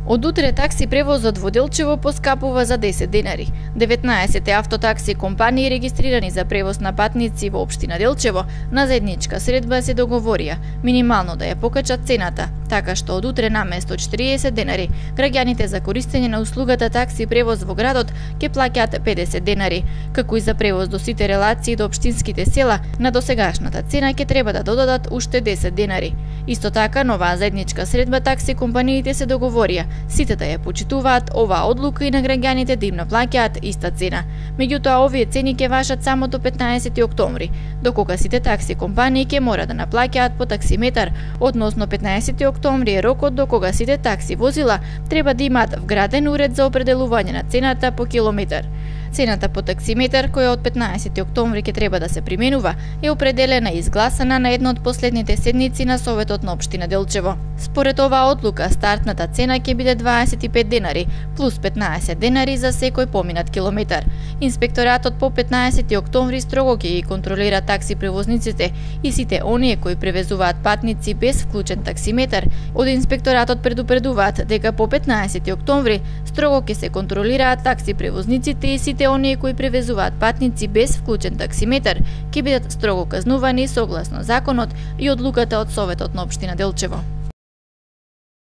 Од утре такси превозот во Делчево поскапува за 10 денари. 19 автотакси компании регистрирани за превоз на патници во општина Делчево на заедничка средба се договорија минимално да ја покачат цената, така што од утре наместо 40 денари граѓаните за користење на услугата такси превоз во градот ќе плаќаат 50 денари, како и за превоз до сите релации до општинските села на досегашната цена ќе треба да додадат уште 10 денари. Исто така, нова заедничка средба такси компаниите се договорија сите да ја почитуваат оваа одлука и на граѓаните да им наплаќаат иста цена. Меѓутоа, овие цени ќе важат само до 15 октомври, докога сите такси компании ќе мора да наплаќаат по таксиметар, односно 15 октомври е рокот до кога сите такси возила треба да имаат вграден уред за определување на цената по километар. Цената по таксиметар, која од 15 октомври ќе треба да се применува, е определена и изгласана на една од последните седници на Советот на општина Делчево. Според оваа одлука, стартната цена ќе биде 25 денари, плюс 15 денари за секој поминат километар. Инспекторатот по 15 октомври строго ќе ги контролира такси превозниците и сите оние кои превезуваат патници без вклучен таксиметар. Од инспекторатот предупредуваат дека по 15 октомври строго ќе се контролираат такси превозниците и сите оние кои превезуваат патници без вклучен таксиметар ќе бидат строго казнувани согласно законот и одлуката од Советот на општина Делчево.